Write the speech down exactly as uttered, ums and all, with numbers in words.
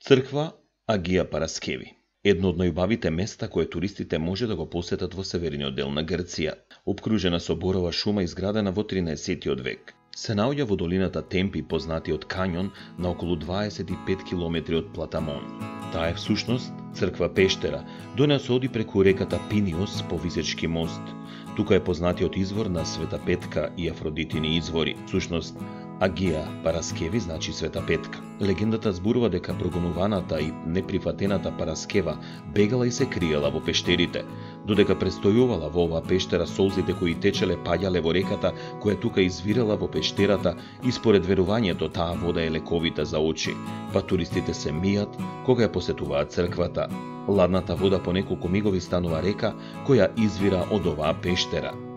Црква Агија Параскеви, едно од најубавите места кое туристите може да го посетат во северниот дел на Грција, обкружена со борова шума изградена во тринаесеттиот век. Се наоѓа во долината Темпи, познатиот кањон, на околу дваесет и пет километри од Платамон. Таа е всушност црква пештера, до неа се оди преку реката Пиниос по Висечки мост. Тука е познатиот извор на Света Петка и Афродитини извори. Всушност, Агија Параскеви значи Света Петка. Легендата зборува дека прогонуваната и неприфатената Параскева бегала и се криела во пештерите, додека престојувала во оваа пештера, солзите кои течеле паѓале во реката која тука извирала во пештерата и според верувањето таа вода е лековита за очи, па туристите се мијат кога ја посетуваат црквата. Ладната вода по неколку мигови станува река која извира од оваа пештера.